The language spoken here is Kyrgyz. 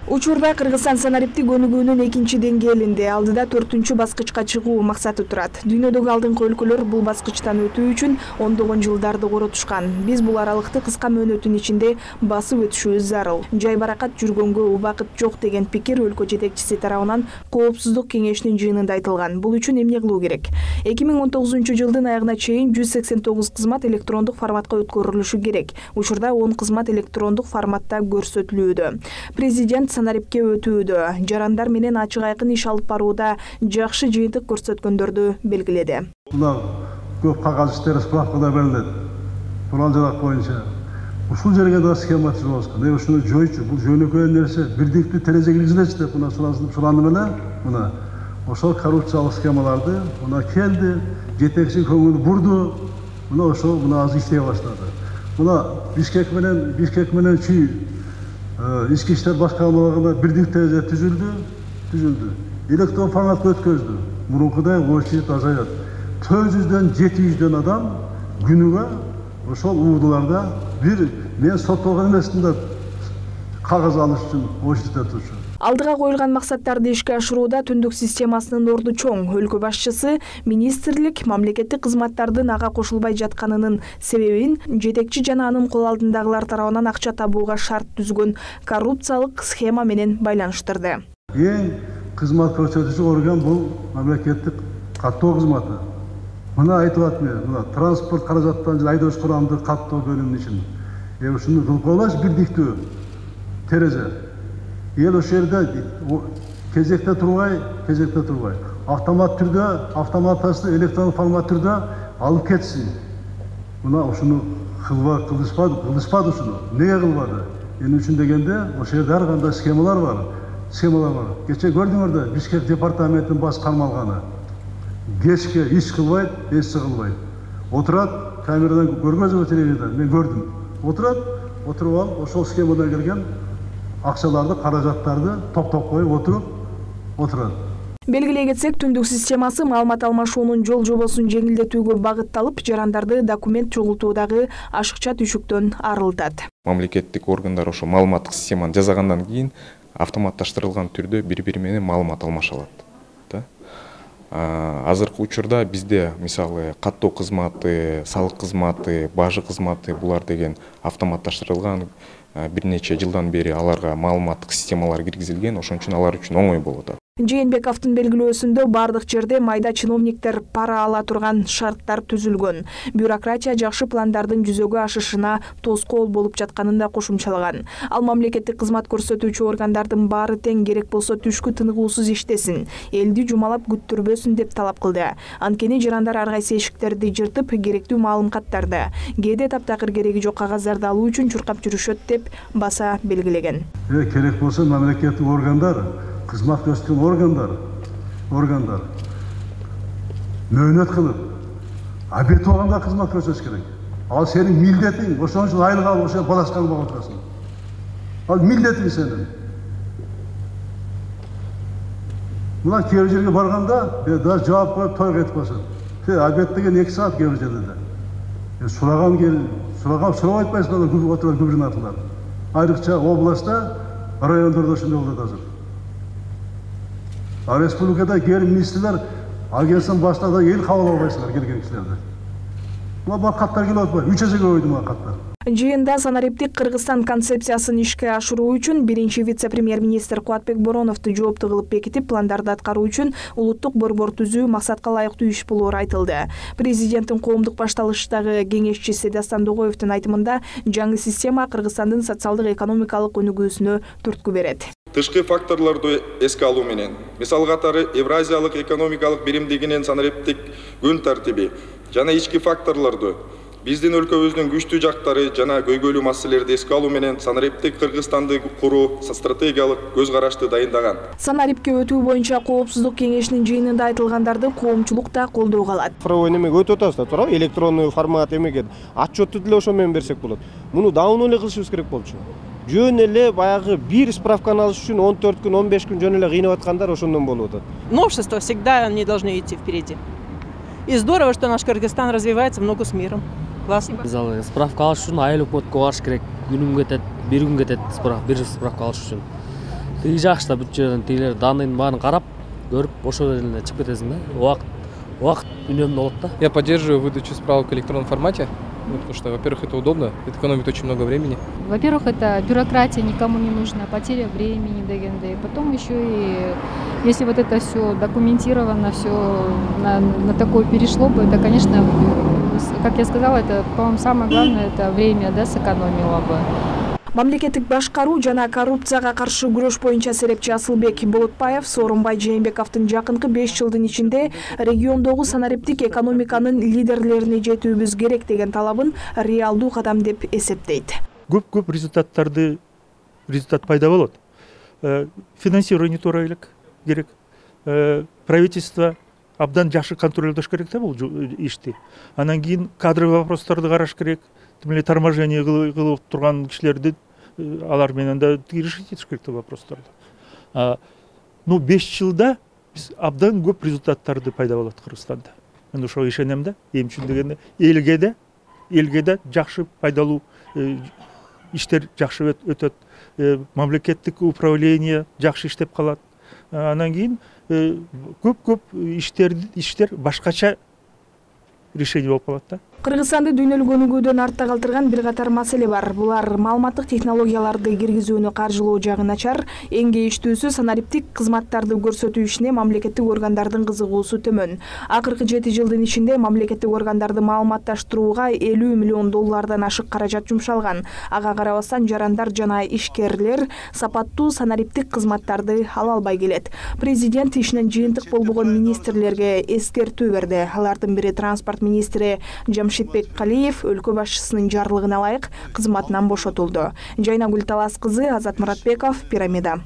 Учурда Кыргызстан санариптик өнүгүүнүн экинчи деңгээлинде, алдыда 4-чү баскычка чыгуу максаты турат. Дүйнөдөгү алдыңкы өлкөлөр бул баскычтан өтүү үчүн ондогон жылдарды коротушкан. Биз бул аралыкты кыска мөөнөттүн ичинде басып өтүшүбүз зарыл. Жайбаракат жүргөнгө убакыт жок деген пикир өлкө жетекчиси тарабынан Коопсуздук кеңешинин жыйынында айтылган. Бул үчүн эмне кылуу керек? 2019-жылдын аягына чейин 189 кызмат электрондук форматка өткөрүлүшү керек. Учурда 10 кызмат электрондук форматта көрсөтүлүүдө. Президент санарипке өтүүдө, жарандар менен ачык айкын иш алып барууда жакшы жыйынтык көрсөткөндөрдү белгиледи. Мына көп кагаз иштери справкада берилет. Туран жарак боюнча. Ушул жерге да схема түзүп аткан. Ушуну жойчу, бул жөнөкөй нерсе, бирдиктүү терезе киргизелечи деп мына сурандым эле. Мына ошол коррупциялык схемаларды мына келди, жетекчи көңүл бурду. Мына ошол мына азыр иштей баштады. Мына Бишкек менен Чүй ички иштер башкармалыгында бирдик терезе түзүлдү. Электрон форматка өткөздү. Мурункудай очередь азаят. 400дөн 700дөн адам күнүгө ошол уурдуларда бир мен соттолгон эмесмин деп кагаз алыш үчүн очередьте турчу. Алдыга коюлган максаттарды ишке ашырууда түндүк системасынын орду чоң. Өлкө башчысы министрлик мамлекеттик кызматтардын ага кошулбай жатканынын себебин жетекчи жана анын кол алдындагылар тарабынан акча табууга шарт түзгөн коррупциялык схема менен байланыштырды. Эң кызмат көрсөтүүчү орган бул мамлекеттик каттоо кызматы. Мына айтып атмын, мына транспорт каражаттан айдоочу курамды каттоо бөлүмүнүн ичинде. Ушуну кылып коелачы бирдиктүү терезе. Ел ошол жерде кезекте турбай, автомат түрдө, автоматты электрон формат түрдө алып кетсин. Мына ушуну кылышпады ушуну. Неге кылбады? Эмне үчүн дегенде, ошол жерде ар кандай схемалар бар. Кече көрдүңөр да, Бишкек департаментинин баш кармалганы. Кечке иш кылбайт, эч кылбайт. Отурат, камерадан көргөнсүзбү телевизордон, мен көрдүм. Отуруп алып, ошол схемадан келген акчаларды, каражаттарды топтоп коюп отурат. Белгилей кетсек, түндүк системасы маалымат алмашуунун жол жобосун жеңилдетүүгө багытталып, жарандарды документ чогултуудагы ашыкча түшүктөн арылтат. Мамлекеттик органдар ошо маалыматтык системаны жасагандан кийин автоматташтырылган түрдө бири-бири менен маалымат алмаша алат. Азыркы учурда бизде мисалы каттоо кызматы, салык кызматы, бажы кызматы булар деген автоматташтырылган бир нече жылдан бери аларга маалыматтык системалар киргизилген, ошон үчүн алар үчүн оңой болуп атат. Жээнбековдун белгилөөсүндө бардык жерде майда чиновниктер пара ала турган шарттар түзүлгөн. Бюрократия жакшы пландардын жүзөгө ашышына тоскоол болуп жатканын да кошумчалаган. Ал мамлекеттик кызмат көрсөтүүчү органдардын баары тең, керек болсо түшкү тыныгуусуз иштесин, элди жумалап күттүрбөсүн деп талап кылды. Анткени жарандар ар кайсы эшиктерди жыртып, керектүү маалыматтарды, кээде таптакыр кереги жок кагаздарды алуу үчүн чуркап жүрүшөт деп баса белгилеген. Керек болсо мамлекеттик органдар, кызмат көрсөткөн органдар мөөнөт кылып, бет болгонго кызмат көрсөтүш керек. Ал сенин милдетиң, ошон үчүн айлык алып ошо балачканы багып отурасың. Ал милдетиң сенин. Мына кээ бир жерге барганда, даже жооп коюп той кетип калышат. Обед деген 2 саат кээ бир жерде. Сурабай атпайсыңдар, губернаторлор. Айрыкча областта, райондордо ошондой болот азыр. А республикада кээ бир министрлер агенттин башында да эл кабыл албайсыңдар келген кишилерди. Мына каттар келип атпайбы? 3 эсеге көбөйдү мына каттар. Жыйында санариптик Кыргызстан концепциясын ишке ашыруу үчүн биринчи вице-премьер-министр Кубатбек Бороновду жоопту кылып бекитип, пландарды аткаруу үчүн улуттук борбор түзүү максатка ылайыктуу иш болоору айтылды. Президенттин коомдук башталыштагы кеңешчиси Дастан Догоевдун айтымында, жаңы система Кыргызстандын социалдык экономикалык өнүгүүсүнө түрткү берет. Тышкы факторлорду эске алуу менен, мисал катары Евразиялык экономикалык биримдигинин санариптик күн тартиби жана ички факторлорду, биздин өлкөбүздүн күчтүү жактары жана көйгөйлүү маселелерди эске алуу менен санариптик Кыргызстанды куруу стратегиялык көз карашты дайындаган. Санарипке өтүү боюнча Коопсуздук кеңешинин жыйынында айтылгандарды коомчулук да колдоого алат. Цифровой немеге өтүп атабыз да, туурабы? Электронный формат эмеге отчетту деле ошо менен берсек болот. Муну давно эле кылышыбыз керек болчу. Жөн эле баягы бир справканы алыш үчүн 14 күн, 15 күн жөн эле кыйнап аткандар ошондон болуп атат. Новшества всегда они должны идти впереди. И здорово, что наш Кыргызстан развивается в ногу с миром. Классно. Мисалы, справка алыш үчүн айыл өкмөткө барыш керек. Күнүм кетет, бир күн кетет бир справка алыш үчүн. Тиги жакшы да бүт жерден тигилер данныйдын баарын карап, көрүп ошол эле чыгып кетесиң да. Убакыт үнөмдүү болот да. Я поддерживаю выдачу справок в электронном формате, потому что, во-первых, это удобно, это экономит очень много времени. Во-первых, это бюрократия никому не нужна, потеря времени дегенде. Потом еще и, если вот это все документировано, все на такое перешло бы, это, конечно, как я сказала, это, по-моему, самое главное, это время, да, сэкономило бы. Мамлекеттик башкаруу жана коррупцияга каршы күрөш боюнча серепчи Асылбек Болотбаев Сооронбай Жээнбековдун жакынкы 5 жылдын ичинде региондогу санариптик экономиканын лидерлерине жетүүбүз керек деген талабын реалдуу кадам деп эсептейт. Көп результат пайда болот. Финансирование туура элек керек. Правительство абдан жакшы контролдош керек да бул ишти. Анан кийин кадровый вопростарды караш керек. Тим эле торможение кылып турган кишилерди алар менен да решить этиш керек вопростарды. 5 жылда биз абдан көп результаттарды пайда болот Кыргызстанда. Мен ошого ишенем да. Эми үчүн дегенде элге да жакшы пайдалуу иштер жакшы өтөт. Мамлекеттик управление жакшы иштеп калат. Анан кийин көп иштер башкача решение болуп калат да. Кыргызстанды дүйнөлүк өнүгүүдөн артта калтырган бир катар маселе бар. Булар маалыматтык технологияларды киргизүүнү каржылоо жагы начар, эң кейиштүүсү санариптик кызматтарды көрсөтүү ишине мамлекеттик органдардын кызыгуусу төмөн. Акыркы 7 жылдын ичинде мамлекеттик органдарды маалыматташтырууга $50 миллион ашык каражат жумшалган. Ага карабастан жарандар жана ишкерлер сапаттуу санариптик кызматтарды ала албай келет. Президент ишинен жыйынтык болбогон министрлерге эскертүү берди. Алардын бири транспорт министри Жамшитбек Калиев өлкө башчысынын жарлыгына ылайык кызматынан бошотулду. Жайнагүл Талас кызы, Азат Муратбеков, Пирамида.